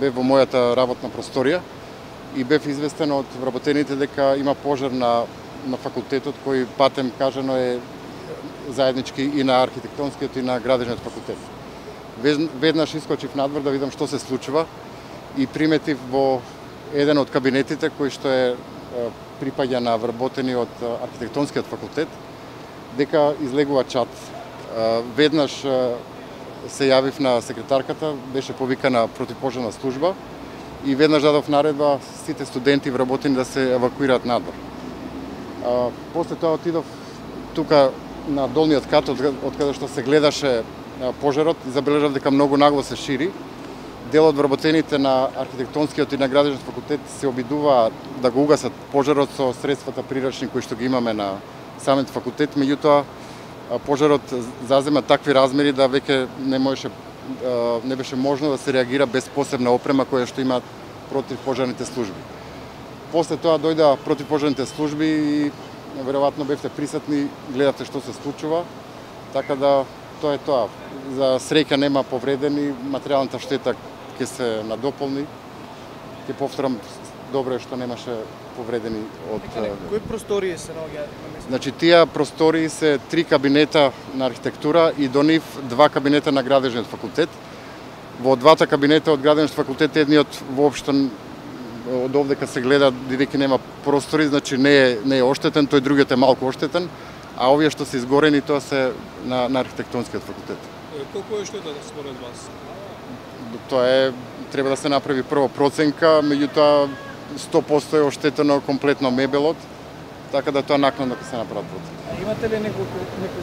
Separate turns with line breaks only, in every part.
Бев во мојата работна просторија и бев известен од вработените дека има пожар на факултетот кој патем кажано е заеднички и на архитектонскиот и на градежниот факултет. Веднаш искочив надвор да видам што се случува и приметив во еден од кабинетите кој што е припаѓа на вработени од архитектонскиот факултет дека излегува чад. Веднаш се јавив на секретарката, беше повикана противпожарна служба и веднаш дадов наредба сите студенти вработени да се евакуираат надвор. После тоа отидов тука на долниот кат од каде што се гледаше пожарот и забележав дека многу нагло се шири. Дел од вработените на архитектонскиот и на градежниот факултет се обидуваа да го угасат пожарот со средствата прирачни кои што ги имаме на самиот факултет, меѓутоа пожарот зазема такви размери да веќе не беше можно да се реагира без посебна опрема која што имаат противпожарните служби. После тоа дојда противпожарните служби и веројатно бевте присутни, гледате што се случува, така да тоа е тоа. За среќа нема повредени, материјалната штета ќе се надополни. Ќе повторам, добро е што немаше повредени од...
Кои простории се наоѓаат на место?
Значи, тие простории се 3 кабинета на архитектура и до нив 2 кабинета на градежниот факултет. Во двата кабинета од градежниот факултет едниот воопшто од овдека се гледа бидејќи нема простори, значи не е оштетен, тој другиот е малку оштетен, а овие што се изгорени тоа се на архитектонскиот факултет.
Колку е штетата според вас?
Тоа е треба да се направи прво проценка, меѓутоа 100% е оштетено комплетно мебелот, така да тоа накнадно ќе се направи проценка.
Имате ли некои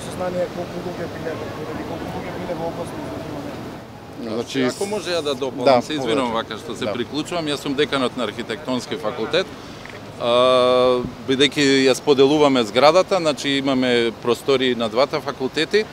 сознание колку луѓе биле во опасност?
Значи,
ако може да дополнам, се извинувам вака што се приклучувам, јас сум деканот на архитектонски факултет. Бидејќи ја споделуваме зградата, значи имаме простори на двата факултети.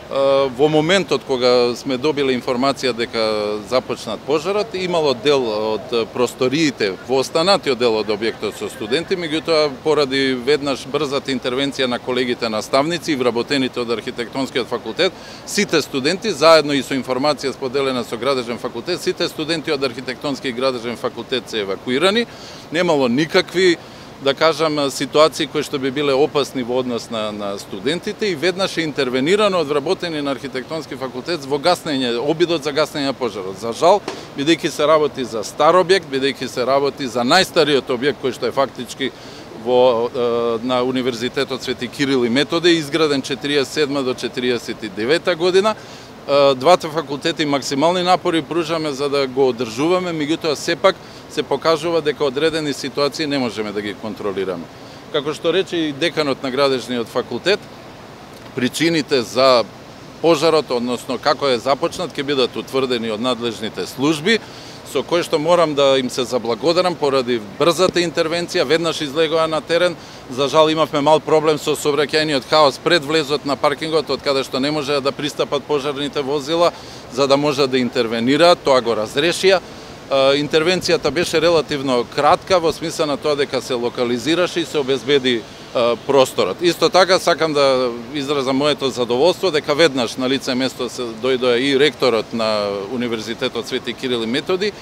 Во моментот кога сме добиле информација дека започнат пожарот, имало дел од просториите во останатиот дел од објектот со студенти, меѓутоа поради веднаш брзата интервенција на колегите наставници и вработените од архитектонскиот факултет, сите студенти заедно и со информација споделена со градежен факултет, сите студенти од архитектонски и градежен факултет се евакуирани, немало никакви да кажам, ситуации кои што би биле опасни во однос на студентите и веднаш е интервенирано од вработени на архитектонски факултет во гаснење, обидот за гаснење на пожарот. За жал, бидејќи се работи за стар објект, бидејќи се работи за најстариот објект кој што е фактички на Универзитетот Свети Кирил и Методе, изграден 47 до 49 година, двата факултети максимални напори пружаме за да го одржуваме, меѓутоа сепак се покажува дека одредени ситуации не можеме да ги контролираме. Како што рече и деканот на градежниот факултет, причините за пожарот, односно како е започнат, ќе бидат утврдени од надлежните служби, со кои што морам да им се заблагодарам поради брзата интервенција, веднаш излегоа на терен. За жал имавме мал проблем со сообраќајниот хаос пред влезот на паркингот, од каде што не можеа да пристапат пожарните возила, за да можат да интервенираат, тоа го разрешија. Интервенцијата беше релативно кратка во смисла на тоа дека се локализираше и се обезбеди просторот. Исто така сакам да изразам моето задоволство дека веднаш на лице место се дојдоа и ректорот на Универзитетот Свети Кирил и Методи,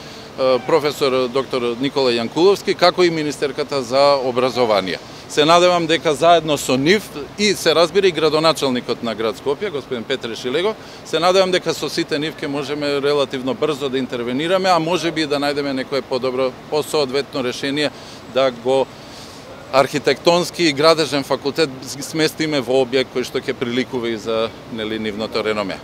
професор доктор Никола Јанкуловски, како и министерката за образование. Се надевам дека заедно со нив и се разбира и градоначалникот на град Скопје, господин Петре Шилегов, се надевам дека со сите нив ќе можеме релативно брзо да интервенираме, а можеби и да најдеме некое подобро, посоодветно решение да го архитектонски и градежен факултет сместиме во објект кој што ќе приликува и за нивното реноме.